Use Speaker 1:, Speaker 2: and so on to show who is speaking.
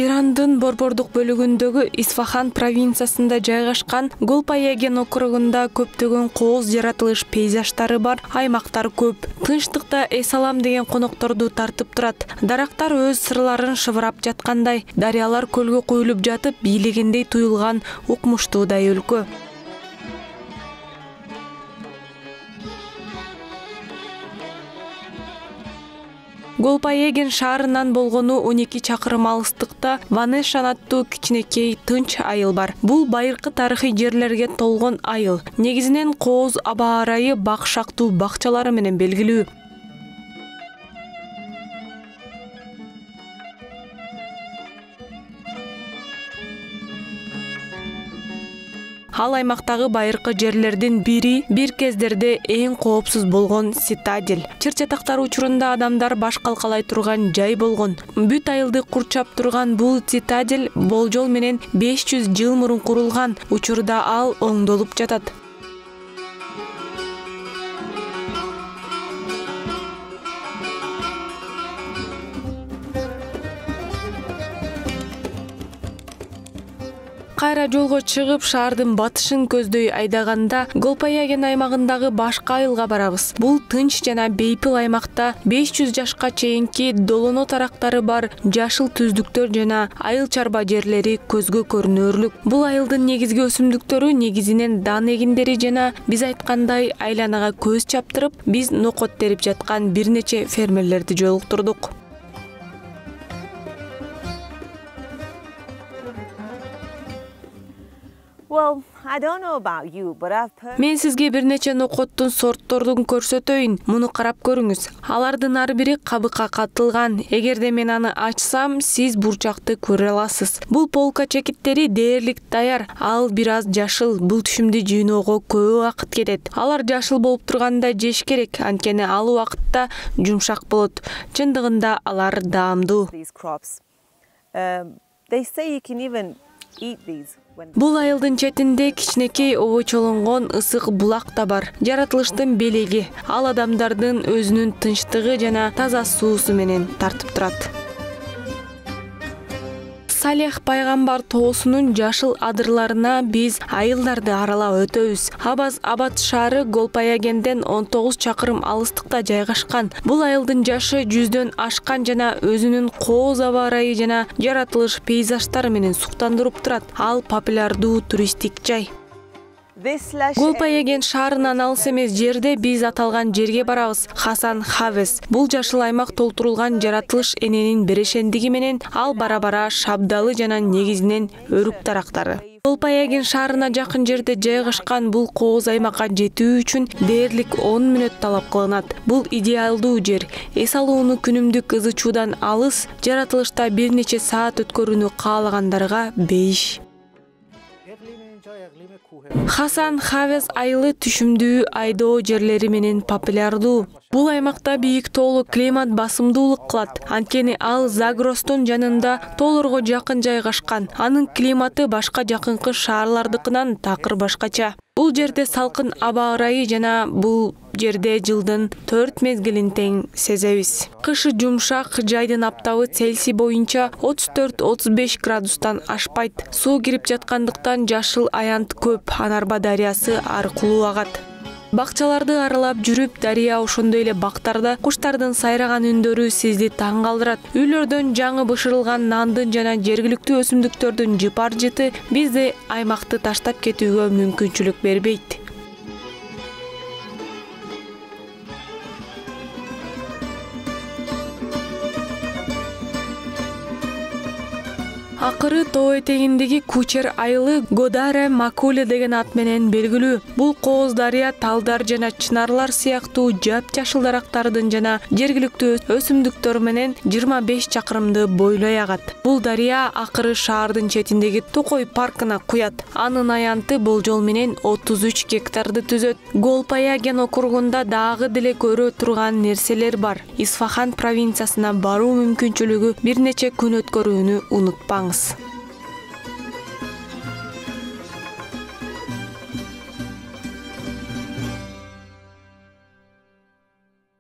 Speaker 1: Ирандын борбордук бөлүгүндөгү Исфахан провинциясында жайгашкан Голпаяген округунда көптөгөн кооз жаратылыш пейзаждары бар аймактар көп. Тынчтыкта эс алам деген конокторду тартып турат. Дарактар өз сырларын шыбырап жаткандай, дарыялар көлгө куюлуп жатып, бийлегендей туюлган укмуштуудай өлкө. Голпаяген шаарынан болгону 12 чакырым алыстыкта Ванешан аттуу кичинекей тынч айыл бар. Бул байыркы тарыхый жерлерге толгон айыл. Негизинен кооз аба ырайы бак шактуу бакчалары менен белгилүү. Ал аймактагы байыркы жерлердин бири, бир кездерде эң коопсуз болгон Цитадель. Чыр-чатактар учурунда адамдар баш калкалай турган жай болгон. Бүт айылды курчап турган бул Цитадель болжол менен 500 жыл мурун курулган. Учурда ал оңдолуп жатат. Кайра жолго чыгып, шаардын батышын көздөй айдаганда Голпаяген аймагындагы башка айылга барабыз. Бул тынч жана бейпил аймакта 500 жашка чейинки долоно тарактары бар жашыл түздүктөр жана айыл чарба жерлери көзгө көрүнөрлүк. Бул айылдын негизги өсүмдүктөрү негизинен дан эгиндери жана биз айткандай айланага көз чаптырып, биз нокот терип жаткан бир нече фермерлерди жолуктурдук. Мен сизге бир нече нокоттун сортторун көрсөтөйүн. Муну карап көрүңүз. Алардын ар бири кабыкка катылган. Эгерде мен аны ачсам, сиз бурчакты көрө аласыз. Бул полка чекиттери дээрлик даяр. Ал бир аз жашыл. Бул түшүмдү жыйноого көп убакыт кетет. Алар жашыл болуп турганда жеш керек, анткени ал убакытта жумшак болот. Чындыгында алар даамдуу. Бул айылдын четинде кичинекей обочолонгон ысык булак да бар. Жаратылыштын белеги. Ал адамдардын өзүнүн тынчтыгы жана таза суусу менен тартып турат. Салех пайгамбар тоосунун жашыл адырларына биз айылдарды аралап өтөбүз. Абад шаары Голпаягенден 19 чакырым алыстыкта жайгашкан. Бул айылдын жашы 100дөн ашкан жана өзүнүн кооз аба ырайы жана жаратылыш пейзаждары менен суктандырып турат. Ал популярдуу туристтик жай. Голпаяген шаарынан алыс эмес жерде биз аталган жерге барабыз. Хасан Хавес. Бул жашыл аймак толтурулган жаратылыш эненин берешендиги менен ал бара-бара шабдалы жана негизинен өрүк дарактары. Голпаяген шаарына жакын жерде жайгашкан бул кооз аймакка жетүү үчүн дээрлик 10 мүнөт талап кылынат. Бул идеалдуу жер. Эс алууну күнүмдүк ызы чуудан алыс, жаратылышта бир нече саат өткөрүүнү каалагандарга бейиш. Хасан Хавес айылы түшүмдүү айдоо жерлери менен популярдуу. Бул аймакта бийик тоолуу климат басымдуулук кылат. Анткени ал Загростун жанында тоолорго жакын жайгашкан. Анын климаты башка жакынкы шаарлардыкынан такыр башкача. Бул жерде салкын аба ырайы жана бул жерде жылдын 4 мезгилин тең сезебиз. Кышы жумшак, жайдын аптабы Цельсий боюнча 34-35 градустан ашпайт. Суу кирип жаткандыктан жашыл аянт көп. Анарба дарыясы аркылуу агат. Бакчаларды аралап жүрүп, дарыя ошондой эле бактарда куштардын сайраган үндөрү сизди таң калтырат. Үйлөрдөн жаңы бышырылган нандын жана жергиликтүү өсүмдүктөрдүн жыпар жыты бизди аймакты таштап кетүүгө мүмкүнчүлүк бербейт. Акыры тоо этегиндеги Кучер айылы Годаре Макуле деген ат менен белгилүү. Бул кооз дарыя талдар жана чынарлар сыяктуу жап-жашыл дарактардын жана жергиликтүү өсүмдүктөр менен 25 чакырымды бойлой агат. Бул дарыя акыры шаардын четиндеги Токой паркына куят. Анын аянты болжол менен 33 гектарды түзөт. Голпаяген округунда дагы деле көрө турган нерселер бар. Исфахан провинциясына баруу мүмкүнчүлүгү бир нече күн өткөрүүнү унутпаңыз.